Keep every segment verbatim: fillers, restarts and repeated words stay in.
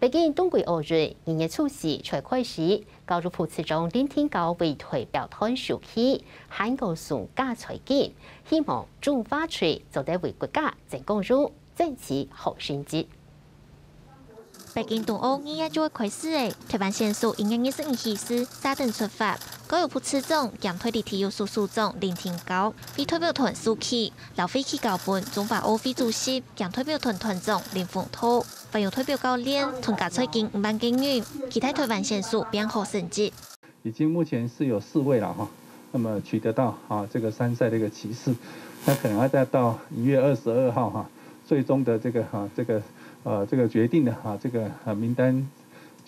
北京冬季奧運二月初四才開始，教育部次長林定高為代表團受氣，還過送加菜金，希望種花水做得為國家爭光榮，爭取好成績。北京冬奧二月就會開始了，台灣選手一月二十二日起始，下等出發，教育部次長兼代理體育署署長林定高為代表團受氣，摎費氣交分中華奧會主席兼代表團團長林鳳圖。 還有代表教練同加菜金五萬個銀，期待台灣選手拚好成績。已經目前是有四位了哈，那麼取得到啊這個參賽的一個席次，那可能要再到一月二十二號哈，最終的這個哈這個呃這個決定的哈這個呃名單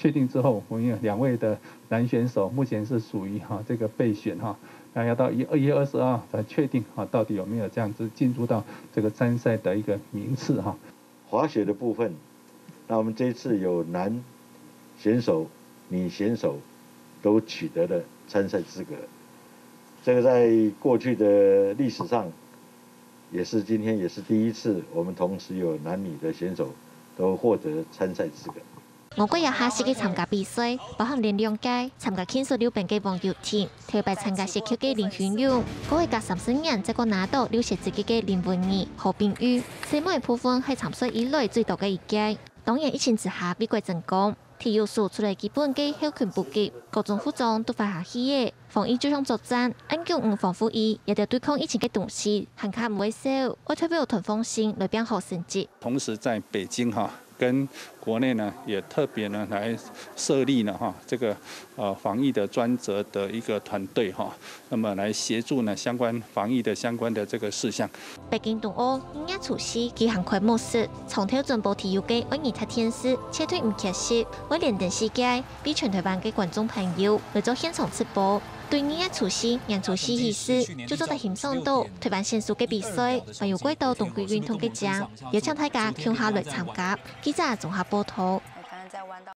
確定之後，我們有兩位的男選手目前是屬於哈這個備選哈，那要到一二月二十二號才確定哈到底有沒有這樣子進入到這個參賽的一個名次哈。 滑雪的部分，那我們這一次有男選手、女選手都取得了參賽資格。這個在過去的歷史上，也是今天也是第一次，我們同時有男女的選手都獲得參賽資格。我國也下四屆參加比賽，包含連兩屆參加慶祝溜冰个黃友婷， 頭擺參加雪橇个林君勇，過去加三十年正過拿到溜雪資格个林文儀、何冰玉，細妹部分係參賽以來最多个一屆。當然疫情之下，為國爭光，體育署除了基本个後勤補給，各種服裝都發下去个。防疫就像作戰，恁強毋防護衣，這兜對抗疫情个東西，還較毋會少，愛代表團放心來拚好成績。同時在北京哈， 跟國內呢也特別呢來設立呢哈這個呃防疫的專責的一個團隊哈，那麼來協助呢相關防疫的相關的這個事項。北京冬奧二月初四舉行開幕式，長透轉播體育个愛爾達電視，絕對毋缺席，會連登四屆，為全台灣个觀眾朋友來做現場直播。對二月初四、年初四起始，就做得欣賞到台灣選手个比賽，還有蓋多冬季運動个獎，邀請大家共下來參加。記者綜合報導。